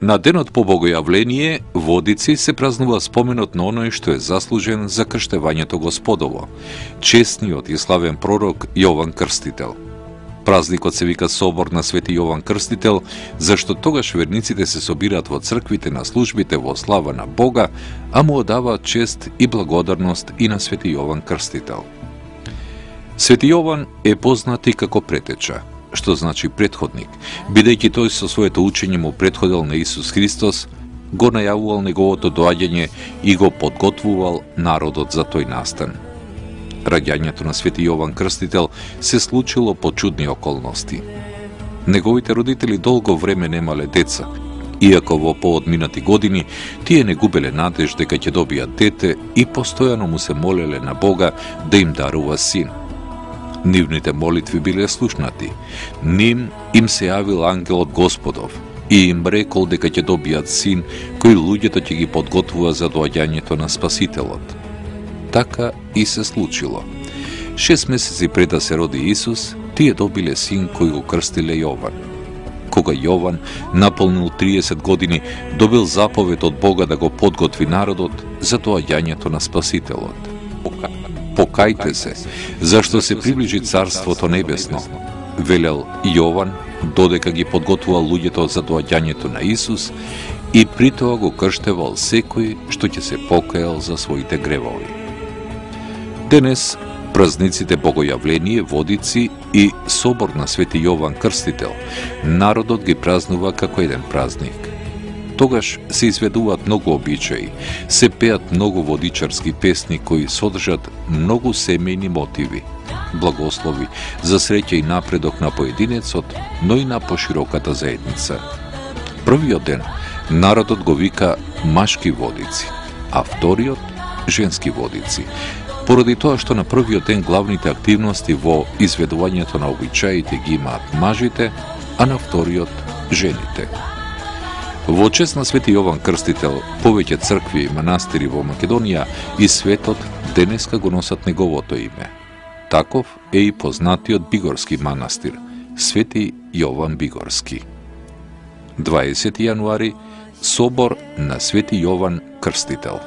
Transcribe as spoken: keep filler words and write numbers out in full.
На денот по Богојавление, Водици се празнува споменот на оној што е заслужен за крштевањето Господово, честниот и славен пророк Јован Крстител. Празникот се вика Собор на Свети Јован Крстител, зашто тогаш верниците се собираат во црквите на службите во слава на Бога, а му одаваат чест и благодарност и на Свети Јован Крстител. Свети Јован е познат и како претеча, што значи предходник, бидејќи тој со своето учење му предходел на Исус Христос, го најавувал неговото доаѓање и го подготвувал народот за тој настан. Раѓањето на Свети Јован Крстител се случило по чудни околности. Неговите родители долго време немале деца, иако во поодминати години тие не губеле надеж дека ќе добијат дете и постојано му се молеле на Бога да им дарува син. Нивните молитви биле слушнати. Ним им се јавил ангелот Господов и им рекол дека ќе добијат син кој луѓето ќе ги подготвува за доаѓањето на Спасителот. Така и се случило. Шест месеци пред да се роди Исус, тие добиле син кој го крстиле Јован. Кога Јован наполнил триесет години, добил заповед од Бога да го подготви народот за доаѓањето на Спасителот. Покајте се, зашто се приближи Царството Небесно, велел Јован, додека ги подготвувал луѓето за доаѓањето на Исус и притоа го крштевал секој што ќе се покајал за своите гревови. Денес празниците Богојавление, Водици и Собор на Свети Јован Крстител народот ги празнува како еден празник. Тогаш се изведуваат многу обичаи, се пеат многу водичарски песни кои содржат многу семејни мотиви, благослови за среќа и напредок на поединецот, но и на пошироката заедница. Првиот ден народот го вика машки водици, а вториот женски водици, поради тоа што на првиот ден главните активности во изведувањето на обичаите ги имаат мажите, а на вториот жените. Во чест на Свети Јован Крстител, повеќе цркви и манастири во Македонија и светот денеска го носат неговото име. Таков е и познатиот Бигорски манастир, Свети Јован Бигорски. дваесети јануари, Собор на Свети Јован Крстител.